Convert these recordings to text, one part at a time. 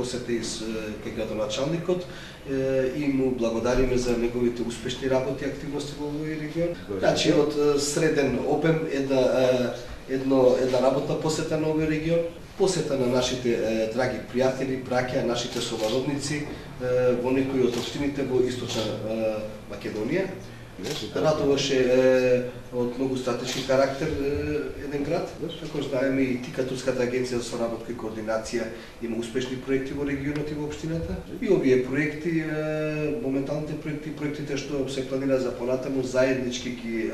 посета и кај градоначалникот и му благодариме за неговите успешни работи и активности во овој регион. Значи од среден обем една работна посета на овој регион, посета на нашите драги пријатели, браќа, нашите совародници во некои од општините во Источна Македонија. Радуваше од многу стратешки карактер еден град. Како знаеме, и ТИКА, Турската агенција за соработка и координација, има успешни проекти во регионот и во општината. И овие проекти, моменталните проектите што се планира за понатаму, заеднички ги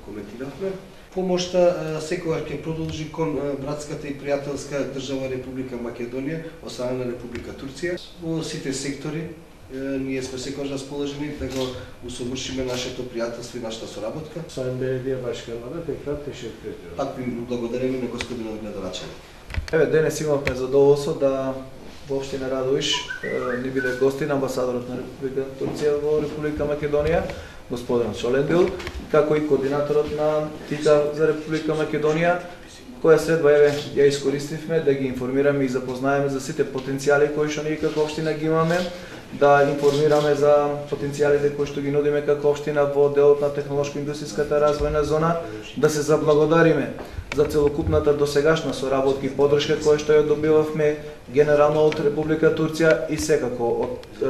коментиравме. Помошта секогаш ќе продолжи кон братската и пријателска држава Република Македонија од страна на Република Турција во сите сектори. Ние сме секогаш расположени да го усовршиме нашето пријателство и нашата соработка. Sayın Belediye Başkanı'na tekrar teşekkür ediyorum. Пак ви благодариме на господинот градоначалник. Еве, денес имавме задоволство да во општина Радовиш ни биде гостин амбасадорот на Република Турција во Република Македонија, господин Шолендил, како и координаторот на ТИКА за Република Македонија, која следва ја искористивме да ги информираме и запознаеме за сите потенцијали кои што ние како општина ги имаме, да информираме за потенцијалите кои што ги нудиме како општина во делот на технолошко-индустријската развојна зона, да се заблагодариме за целокупната досегашна соработка и поддршка која што ја добивавме генерално од Република Турција и секако од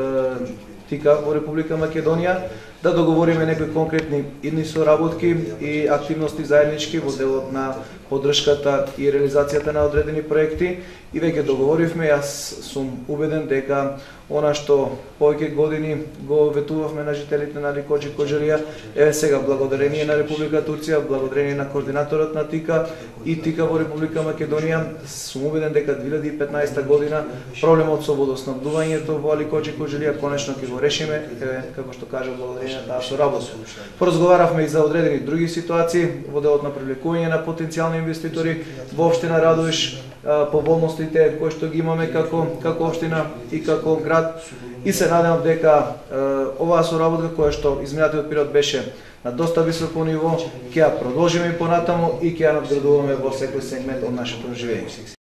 ТИКА во Република Македонија, да договориме некои конкретни идни соработки и активности заеднички во делот на поддршката и реализацијата на одредени проекти. И веќе договоривме, јас сум убеден дека она што повеќе години го ветувавме на жителите на Рикоџи Кожелија, еве сега благодарение на Република Турција, благодарение на координаторот на ТИКА и ТИКА во Република Македонија, сум убеден дека 2015 година проблемот со водоснабдувањето во Рикоџи Кожелија конечно ќе го решиме, како што кажа, благодарение на таа соработка. Поразговаравме и за одредени други ситуации во делот на привлекување на потенцијални инвеститори во општина Радовиш, поволностите кои што ги имаме како општина и како град, и се надевам дека оваа соработка која што изминатиот период беше на доста високо ниво, ќе ја продолжиме и понатаму и ќе ја надградуваме во секој сегмент од нашето живење.